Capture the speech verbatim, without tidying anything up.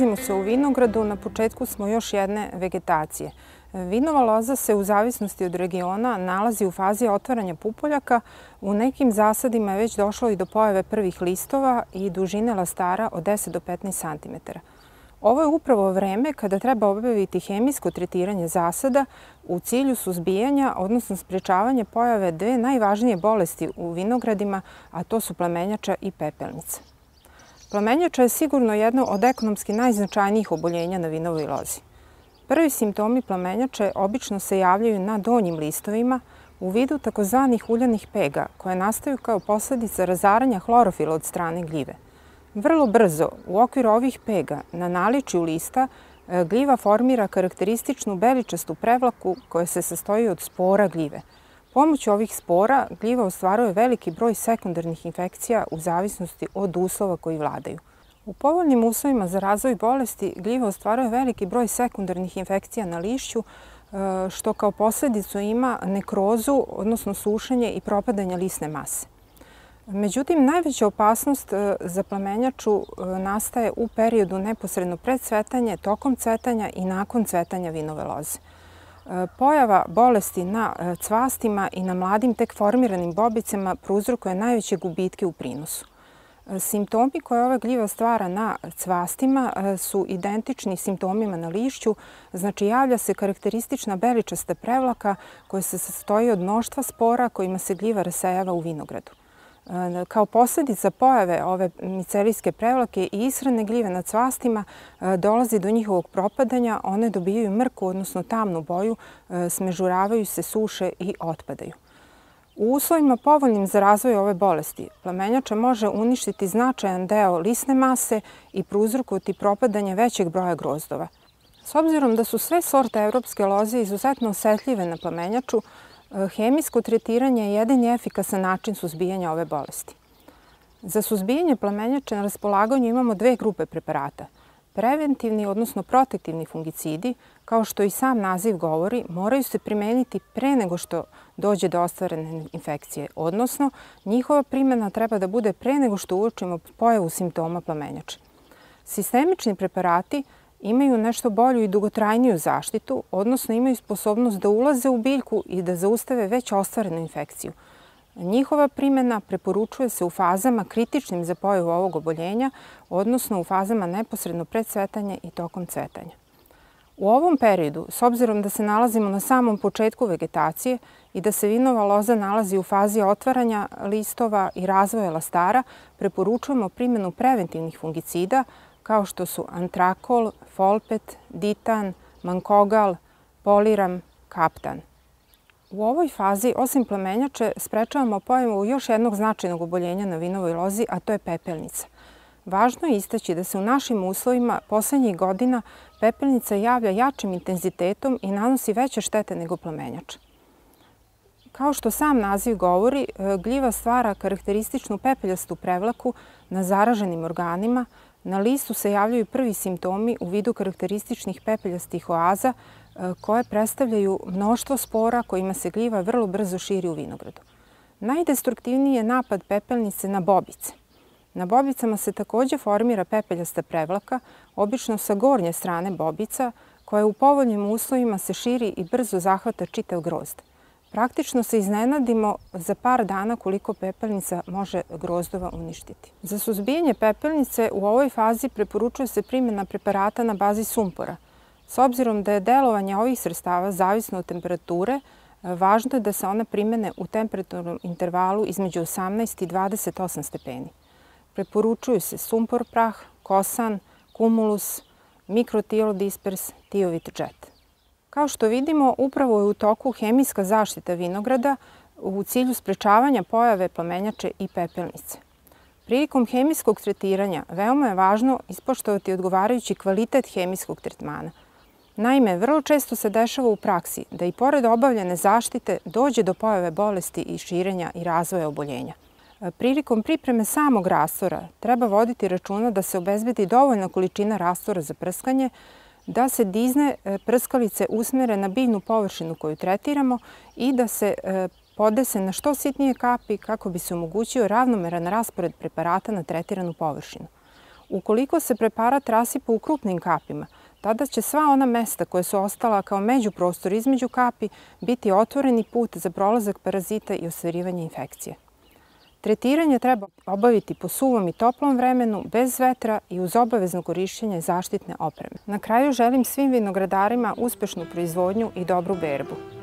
Nalazimo se u vinogradu, na početku smo još jedne vegetacije. Vinova loza se u zavisnosti od regiona nalazi u fazi otvaranja pupoljaka. U nekim zasadima je već došlo i do pojave prvih listova i dužine lastara od deset do petnaest santimetara. Ovo je upravo vreme kada treba obaviti hemijsko tretiranje zasada u cilju suzbijanja, odnosno sprečavanja pojave dve najvažnije bolesti u vinogradima, a to su plamenjača i pepelnica. Plamenjača je sigurno jedno od ekonomski najznačajnijih oboljenja na vinovoj lozi. Prvi simptomi plamenjače obično se javljaju na donjim listovima u vidu takozvanih uljanih pega, koje nastaju kao posledica razaranja hlorofila od strane gljive. Vrlo brzo, u okviru ovih pega, na naličju lista, gljiva formira karakterističnu beličastu prevlaku koja se sastoji od spora gljive. Pomoću ovih spora gljiva ostvaruje veliki broj sekundarnih infekcija u zavisnosti od uslova koji vladaju. U povoljnim uslovima za razvoj bolesti gljiva ostvaruje veliki broj sekundarnih infekcija na lišću, što kao posljedicu ima nekrozu, odnosno sušenje i propadanje lisne mase. Međutim, najveća opasnost za plamenjaču nastaje u periodu neposredno pred cvetanje, tokom cvetanja i nakon cvetanja vinove loze. Pojava bolesti na cvastima i na mladim tek formiranim bobicama prouzrokuje najveće gubitke u prinosu. Simptomi koje ova gljiva stvara na cvastima su identični simptomima na lišću, znači javlja se karakteristična beličasta prevlaka koja se sastoji od mnoštva spora kojima se gljiva rasejava u vinogradu. Kao posljedica pojave ove micelijske prevlake i ishrane gljive na cvastima dolazi do njihovog propadanja, one dobijaju mrku, odnosno tamnu boju, smežuravaju se, suše i otpadaju. U uslovima povoljnim za razvoj ove bolesti, plamenjača može uništiti značajan deo lisne mase i prouzrokovati propadanje većeg broja grozdova. S obzirom da su sve sorte evropske loze izuzetno osetljive na plamenjaču, hemijsko tretiranje je jedini efikasan način suzbijanja ove bolesti. Za suzbijanje plamenjače na raspolaganju imamo dve grupe preparata. Preventivni, odnosno protektivni fungicidi, kao što i sam naziv govori, moraju se primeniti pre nego što dođe do ostvarene infekcije, odnosno njihova primjena treba da bude pre nego što uočimo pojavu simptoma plamenjače. Sistemični preparati imaju nešto bolju i dugotrajniju zaštitu, odnosno imaju sposobnost da ulaze u biljku i da zaustave već ostvarenu infekciju. Njihova primjena preporučuje se u fazama kritičnim za pojavu ovog oboljenja, odnosno u fazama neposredno pred cvetanje i tokom cvetanja. U ovom periodu, s obzirom da se nalazimo na samom početku vegetacije i da se vinova loza nalazi u fazi otvaranja listova i razvoja lastara, preporučujemo primjenu preventivnih fungicida kao što su antrakol, folpet, ditan, mankogal, poliram, kaptan. U ovoj fazi, osim plamenjače, sprečavamo pojavu još jednog značajnog oboljenja na vinovoj lozi, a to je pepelnica. Važno je istaći da se u našim uslovima poslednjih godina pepelnica javlja jačim intenzitetom i nanosi veće štete nego plamenjača. Kao što sam naziv govori, gljiva stvara karakterističnu pepeljastu prevlaku na zaraženim organima. Na listu se javljaju prvi simptomi u vidu karakterističnih pepeljastih oaza koje predstavljaju mnoštvo spora kojima se gljiva vrlo brzo širi u vinogradu. Najdestruktivniji je napad pepelnice na bobice. Na bobicama se također formira pepeljasta prevlaka, obično sa gornje strane bobica, koja u povoljnim uslovima se širi i brzo zahvata čitav grozd. Praktično se iznenadimo za par dana koliko pepelnica može grozdova uništiti. Za suzbijanje pepelnice u ovoj fazi preporučuje se primjena preparata na bazi sumpora. S obzirom da je delovanje ovih sredstava zavisno od temperature, važno je da se one primjene u temperaturnom intervalu između osamnaest i dvadeset osam stepeni. Preporučuju se sumpor prah, kosan, kumulus, mikrotilodispers, tiovit džet. Kao što vidimo, upravo je u toku hemijska zaštita vinograda u cilju sprečavanja pojave plamenjače i pepelnice. Prilikom hemijskog tretiranja veoma je važno ispoštovati odgovarajući kvalitet hemijskog tretmana. Naime, vrlo često se dešava u praksi da i pored obavljene zaštite dođe do pojave bolesti i širenja i razvoja oboljenja. Prilikom pripreme samog rastvora treba voditi računa da se obezbedi dovoljna količina rastvora za prskanje, da se dizne prskalice usmere na biljnu površinu koju tretiramo i da se podese na što sitnije kapi kako bi se omogućio ravnomeran raspored preparata na tretiranu površinu. Ukoliko se preparat rasipa u krupnim kapima, tada će sva ona mesta koja su ostala kao međuprostor između kapi biti otvoreni put za prolazak parazita i ostvarivanje infekcije. Tretiranje treba obaviti po suvom i toplom vremenu, bez vetra i uz obavezno korišćenje zaštitne opreme. Na kraju želim svim vinogradarima uspešnu proizvodnju i dobru berbu.